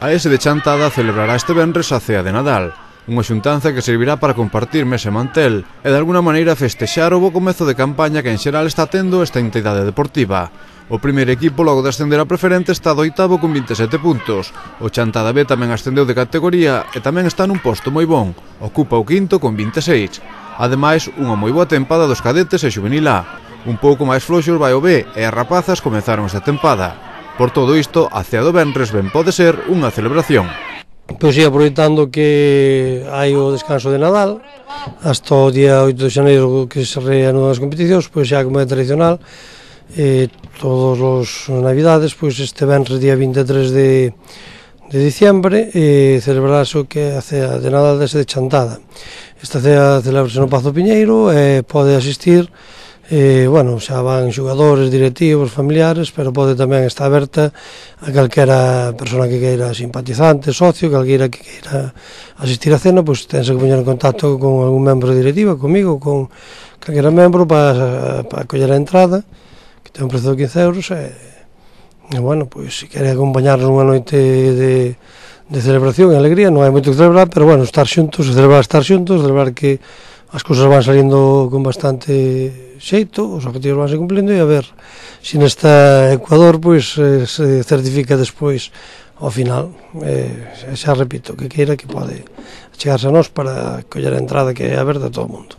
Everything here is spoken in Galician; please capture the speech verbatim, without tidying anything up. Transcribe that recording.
A ese de Chantada celebrará este venres a cea de Nadal, unha xuntanza que servirá para compartir mesa e mantel e de alguna maneira festexar o bo comezo de campaña que en xeral está tendo esta entidade deportiva. O primeiro equipo logo de ascender a preferente está do oitavo con vinte e sete puntos. O Chantada B tamén ascendeu de categoría e tamén está nun posto moi bon, ocupa o quinto con vinte e seis. Ademais, unha moi boa tempada dos cadetes e xuvenil A. Un pouco máis floxos vai o B e as rapazas comezaron esta tempada. Por todo isto, a cea do venres ben pode ser unha celebración. Pois sí, aproveitando que hai o descanso de Nadal, hasta o día oito de xaneiro que se reanudan as competicións, pois xa como é tradicional, eh, todos os navidades, pois este venres día vinte e tres de, de diciembre, eh, celebrarase o que é a cea de Nadal dese de Chantada. Esta cea celebrase no Pazo Piñeiro e pode asistir, Eh, bueno, xa van xogadores, directivos, familiares, pero pode tamén estar aberta a calquera persona que queira, simpatizante, socio, calquera que queira asistir á cena, pois tense que poñer en contacto con algún membro directiva, comigo, con calquera membro para, para coller a entrada, que ten un prezo de quince euros, e, e bueno, pois se quere acompañarnos unha noite de, de celebración e alegría, non hai moito que celebrar, pero bueno, estar xuntos, celebrar estar xuntos, celebrar que as cousas van saliendo con bastante xeito, os objetivos van se cumplindo e a ver se nesta Ecuador pois eh, se certifica despois ao final. Eh, xa repito, que queira que pode chegarse a nós para coller a entrada que é aberta a todo o mundo.